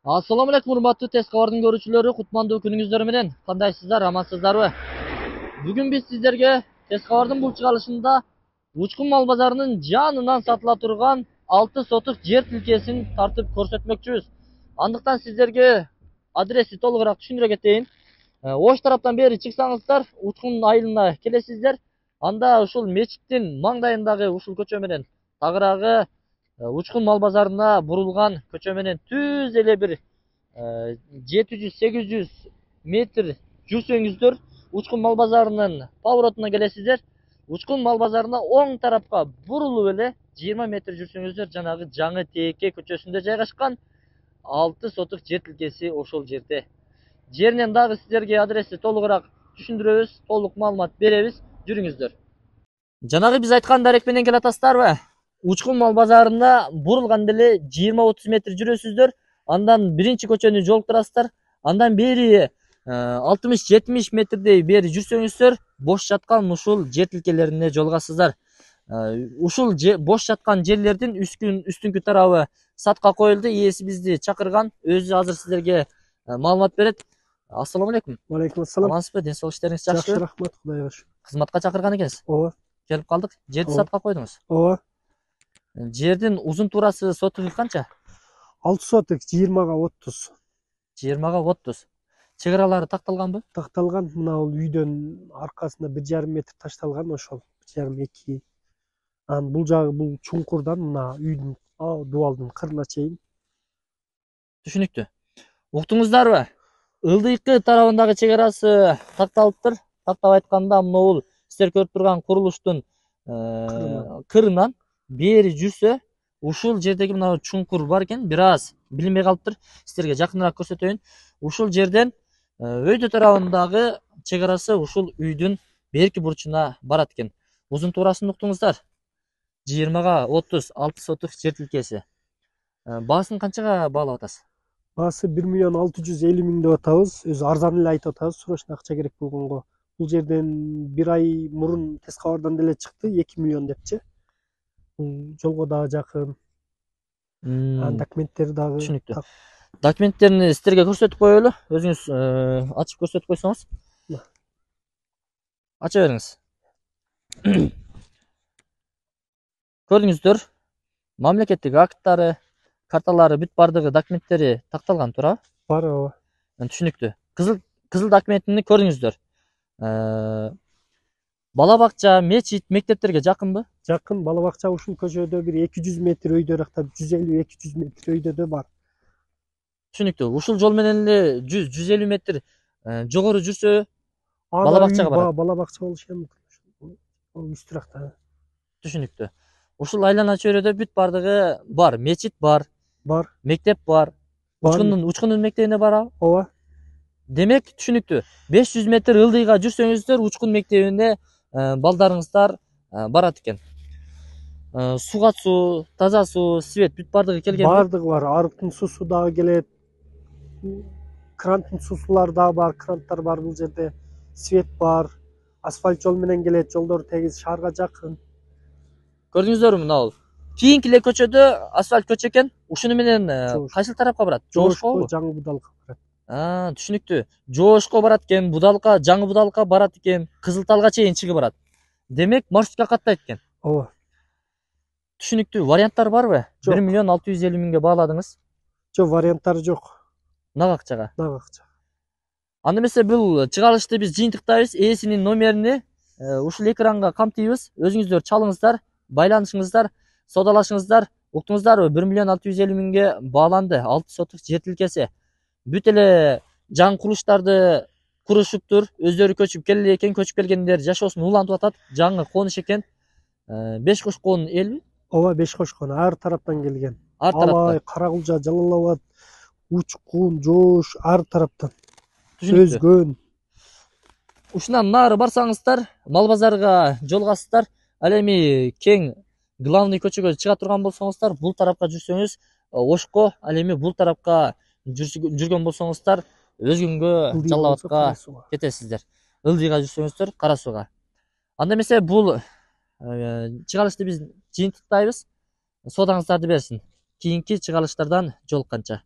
Assalamu alaikum урматтуу тез кабардын көрүүчүлөрү, кутмандуу күнүңүздөр менен. Кандайсыздар, амансыздарбы? Бүгүн биз сиздерге тез кабардын бул чыгарылышында Учкун мал базарынын жанынан сатыла турган 6 сотук жер тилкесин тартып көрсөтмөкчүбүз. Андыктан сиздерге адреси толугураак түшүндүрө кетейин. Ош тараптан бери чыксаңыздар, Учкун айылына келесиздер. Анда ушул мечиттин маңдайындагы ушул көчө менен тагыраагы Учкун мал базарына бурулган көчө менен түз эле бир 700-800 метр жүрсөңүздөр Учкун мал базарынын поворотуна келесиздер. Учкун мал базарына оң тарапка бурулуп эле 20 метр жүрсөңүздөр жанагы Жаңы Тээке көчөсүндө жайгашкан 6 сотук жер тилкеси ошол жерде. Жеринен дагы сиздерге адреси толугураак түшүндүрөбүз, толук маалымат беребиз. Жүрүңүздөр. Жанагы биз айткан дарек менен келатасыздарбы? Учкун мал базарына бурулганда эле 20-30 метр жүрөсүздөр. Андан биринчи көчөнү жолуктурасыздар. Андан бери 60-70 метрдей бери жүрсөңүздөр, бош жаткан ушул жер тилкелерине жолугасыздар. Ушул бош жаткан жерлердин үстүңкү тарабы сатка коюлду. Ээси бизди чакырган, өзү азыр сиздерге маалымат берет. Ассаламу алейкум. Алейкум ассалам. Амансызбы? Ден соолук иштериңиз жакшыбы? Жакшы, рахмат, Кудайга шүкүр. Кызматка чакырган экенсиз. Ооба. Келип калдык. Жерди сатка койдуңуз. Ооба. Жердин узун туурасы сотугу канча? 6 сотук 20га 30. 20га 30. Чыгаралары такталганбы? Такталган. Мына бул үйдөн аркасында 1,5 метр ташталган ошол. 1,5-2. Анан бул жагы бул чуңкурдан мына үйдүн дубалдын кырына чейин. Түшүнүктүү. Уктуңуздарбы? Ылдыйкы тарабындагы чыгарасы такталыптыр. Тактап айтканда бул сиздер көрүп турган курулуштун кырынан бери жүрсө, ушул жердеги мына чуңкур бар экен, бир аз билинбей калыптыр. Сиздерге жакыныраак көрсөтөйүн. Ушул жерден өйдө тарабындагы чыгарасы ушул үйдүн берки бурчуна барат экен. Узун туурасын уктуңуздар. 20га 30 6 сотук жер тилкеси. Баасын канчага баалап атасыз? Баасы 1,650,000 деп атабыз. Өзү арзан эле айтып атабыз, срочно акча керек болгонго. Бул жерден бир ай мурун тез кабардан деле чыкты, 2 миллион депчи. Бул жолго дагы жакын. Документтери дагы. Түшүнүктүү. Документтерин сиздерге көрсөтүп коелу. Өзүңүз ачып көрсөтүп койсоңуз. Ача бериңиз. Көрдүңүздөр. Мамлекеттик акттары, карталары бүт бардыгы документтери такталган туурабы? Бар, ооба. Түшүнүктүү. Кызыл документини көрдүңүздөр. Бала бакча, мечит, мектептерге жакынбы? Жакын. Бала бакча ушул көчөдө бир 200 метр өйдөракта, 150-200 метр өйдөдө бар. Түшүнүктүү. Ушул жол менен эле 100-150 метр жогору жүрсө бала бакчага барат. Бала бакча болушу мүмкүн. Үстүракта. Түшүнүктүү. Ушул айлана чөйрөдө бүт бардыгы бар. Мечит бар. Бар. Мектеп бар. Учкундун мектебине барабы? Ооба. Демек, түшүнүктүү. 500 метр ылдыйга жүрсөңүздөр, Учкун мектебине балдарыңыздар барат экен. Суга суу, таза суу, свет бүт бардыгы келген. Бардыгы бар. Арыктын суусу дагы келет. Кранттын суусулары дагы бар, кранттар бар бул жерде. Свет бар. Асфальт жол менен келет, жолдор тегиз, шаарга жакын. Көрдүңүздөрбү мына бул? Кийинки эле көчөдө асфальт көчө экен. Ушуну менен кайсыл тарапка барат? Жоошко, Жаңы Будалка барат. Түшүнүктүү. Жоошко барат экен, Будалка, Жаңы Будалка барат экен, Кызыл Талга чейин чыгып барат. Демек, маршрутка каттайт экен. Ооба. Түшүнүктүү. Варианттар барбы? 1,650,000 бааладыңыз. Жок, варианттары жок. Нак акчага. Нак акча. Анда эмесе бул чыгарылышты биз жыйынтыктайбыз. Ээсинин номерини ушул экранга камтыйбыз. Өзүңүздөр чалыңыздар, байланышыңыздар, содалашыңыздар. Уктуңуздарбы? 1,650,000 бааланды 6 сотук жер тилкеси. Бүт эле жаңы курулуштарды курушуптур. Өздөрү көчүп келе экен, көчүп келгендер жашоосун улантып атат. Жаңы коныш экен. 5 кошкон элби? Ооба, 5 кошкон ар тараптан келген. Ар тараптан. Алай, Каракулча, Жалал Абад, Учкун, Жоош, ар тараптан. Түшүнүктүү. Өзгөн. Ушундан нары барсаңыздар, мал базарга жолугасыздар. Ал эми кең главный көчөгө чыга турган болсоңуздар, бул тарапка жүрсөңүз Ошко, ал эми бул тарапка жүргөн болсоңуздар Өзгөнгө, Жалал Абадка кетесиздер. Ылдыйга жүрсөңүздөр Кара Сууга. Анда эмесе бул чыгарылышты биз жыйынтыктайбыз. Содаңыздарды берсин. Кийинки чыгарылыштардан жолукканча.